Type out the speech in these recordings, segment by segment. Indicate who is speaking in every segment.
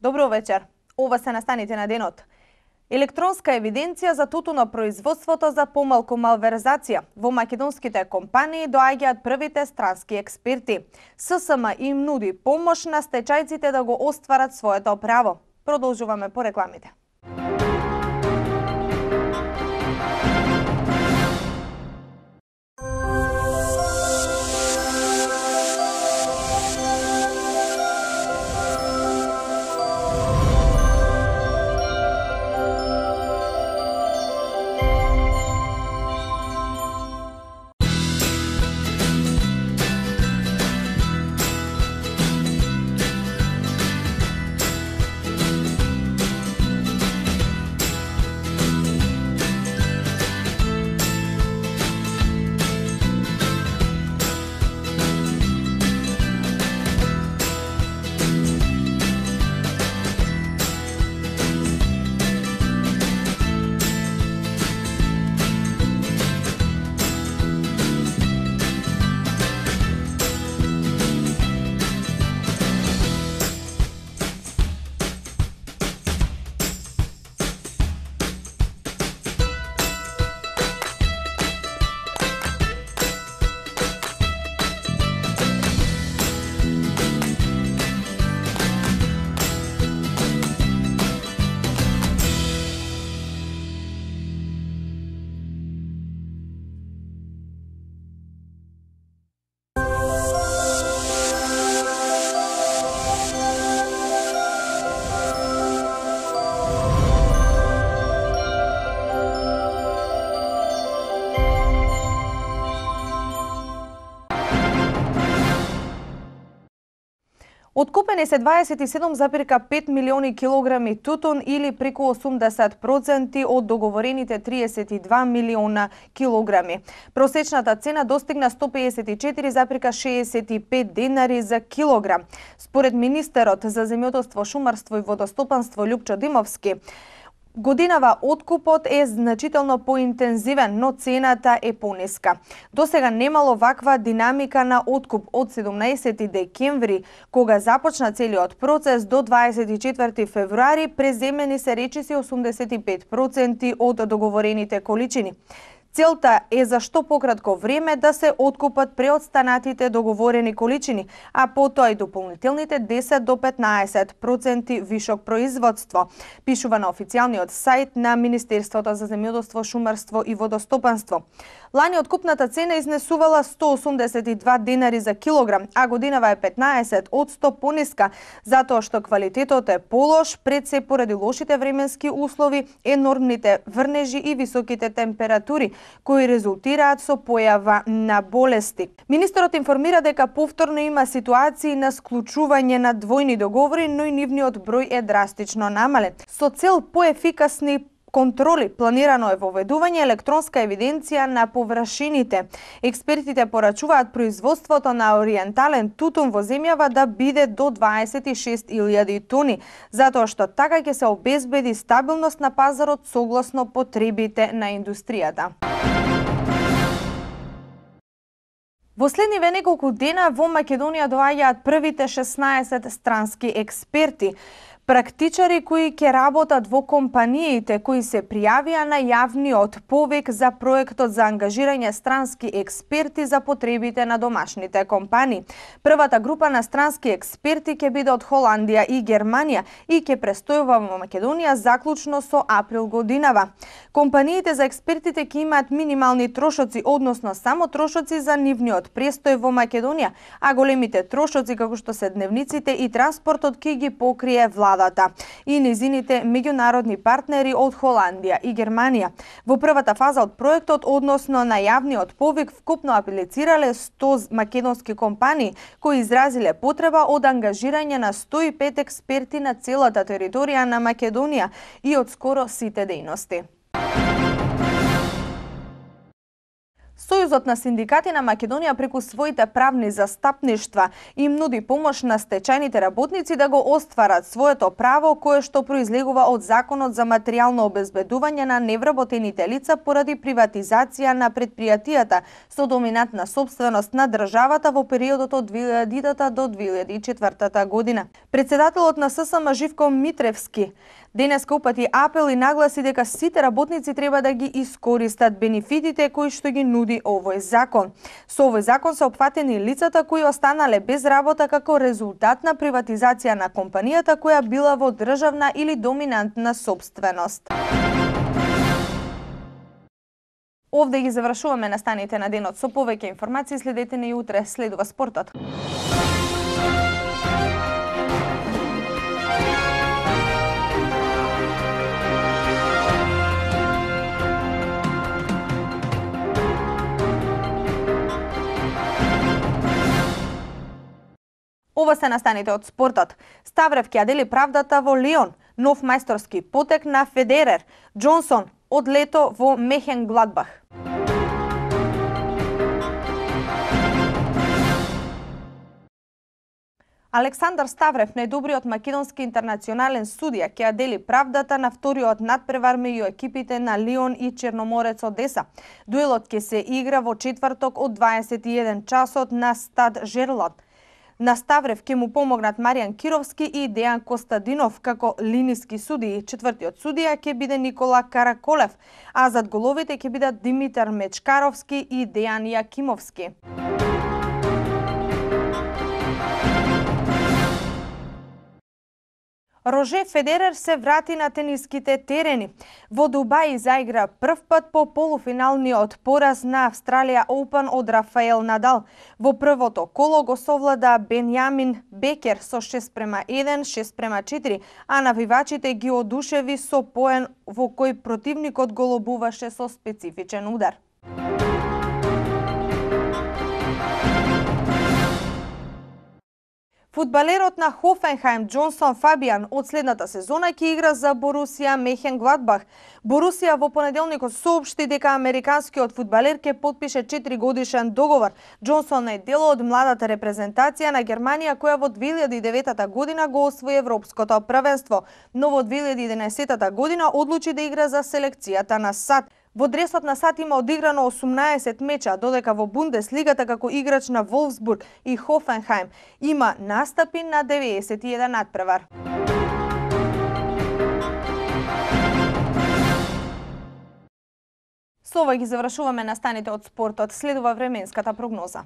Speaker 1: Добро вечер. Ова се настаните на денот. Електронска евиденција за тутунопроизводството за помалку малверзација. Во македонските компании доаѓаат првите странски експерти. ССМ им нуди помош на стечајците да го остварат своето право. Продолжуваме по рекламите. Откупени се 27,5 милиони килограми тутун или преку 80% од договорените 32 милиона килограми. Просечната цена достигна 154,65 денари за килограм. Според министерот за земјоделство, шумарство и водостопанство Љупчо Димовски, годинава откупот е значително поинтензивен, но цената е пониска. Досега немало ваква динамика на откуп од 17 декември, кога започна целиот процес, до 24 февруари преземени се речиси 85% од договорените количини. Целта е за што пократко време да се откупат преостанатите договорени количини, а потоа и дополнителните 10 до 15% вишок производство, пишува на официјалниот сајт на Министерството за земјоделство, шумарство и водостопанство. Лани откупната цена изнесувала 182 денари за килограм, а годинава е 15% пониска, затоа што квалитетот е полош, пред се поради лошите временски услови, енормните врнежи и високите температури, кои резултираат со појава на болести. Министерот информира дека повторно има ситуации на склучување на двојни договори, но и нивниот број е драстично намален. Со цел поефикасни контроли планирано е воведување електронска евиденција на површините. Експертите порачуваат производството на ориентален тутун во земјава да биде до 26.000 тони, затоа што така ќе се обезбеди стабилност на пазарот согласно потребите на индустријата. Во следниве неколку дена во Македонија доаѓаат првите 16 странски експерти. Практичари кои ќе работат во компаниите кои се пријавија на јавниот повик за проектот за ангажирање странски експерти за потребите на домашните компании. Првата група на странски експерти ќе биде од Холандија и Германија и ќе престојува во Македонија заклучно со април годинава. Компаниите за експертите ќе имаат минимални трошоци, односно само трошоци за нивниот престој во Македонија, а големите трошоци како што се дневниците и транспортот ќе ги покрие владата и незините меѓународни партнери од Холандија и Германија. Во првата фаза од проектот, односно на јавниот повик, вкупно аплицирале 100 македонски компании кои изразиле потреба од ангажирање на 105 експерти на целата територија на Македонија и од скоро сите дејности. Сојузот на синдикати на Македонија преку своите правни застапништва им нуди помош на стечајните работници да го остварат своето право кое што произлегува од Законот за материјално обезбедување на невработените лица поради приватизација на предпријатијата со доминантна сопственост на државата во периодот од 2000 до 2004 година. Председателот на ССМ Живко Митревски денеска упати апел и нагласи дека сите работници треба да ги искористат бенефитите кои што ги нуди овој закон. Со овој закон се опфатени лицата кои останале без работа како резултат на приватизација на компанијата која била во државна или доминантна сопственост. Овде ги завршуваме настаните на денот. Со повеќе информации следете не и утре. Следува спортот. Ова се настаните од спортот. Ставрев ќе ја дели правдата во Лион. Нов мајсторски потек на Федерер. Џонсон од лето во Мехенгладбах. Александар Ставрев, најдобриот македонски интернационален судија, ќе ја дели правдата на вториот надпревар меѓу екипите на Лион и Черноморец Одеса. Дуелот ќе се игра во четврток од 21 часот на стад Жерлат. На Ставрев ќе му помогнат Маријан Кировски и Дејан Костадинов како линиски судии. Четвртиот судија ќе биде Никола Караколев, а зад головите ќе бидат Димитар Мечкаровски и Дејан Јакимовски. Роже Федерер се врати на тениските терени. Во Дубај заигра прв пат по полуфиналниот пораз на Австралија Оупен од Рафаел Надал. Во првото коло го совлада Бенјамин Бекер со 6:1, 6:4, а навивачите ги одушеви со поен во кој противникот го лобуваше со специфичен удар. Фудбалерот на Хофенхајм Џонсон Фабијан од следната сезона ќе игра за Борусија Мехенгладбах. Борусија во понеделникот соопшти дека американскиот фудбалер ќе потпише 4-годишен договор. Џонсон е дел од младата репрезентација на Германија која во 2009 година го освои европското првенство, но во 2011 година одлучи да игра за селекцијата на САД. Во дресот на САД има одиграно 18 меча, додека во Бундеслигата како играч на Волфсбург и Хофенхајм има настапи на 91 надпревар. Со ова ги завршуваме настаните од спортот. Следува временската прогноза.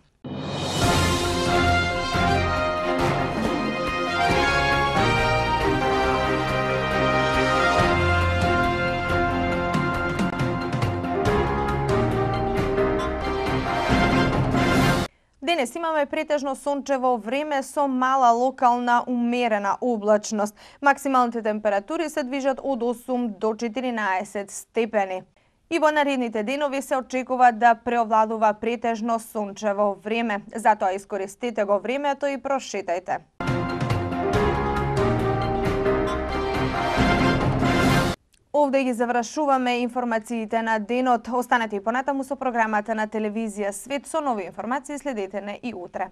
Speaker 1: Денес имаме претежно сончево време со мала локална умерена облачност. Максималните температури се движат од 8 до 14 степени. И во наредните денови се очекува да преовладува претежно сончево време. Затоа искористете го времето и прошетајте. Овде ги завршуваме информациите на денот. Останете и понатаму со програмата на телевизија Свет со нови информации. Следете не и утре.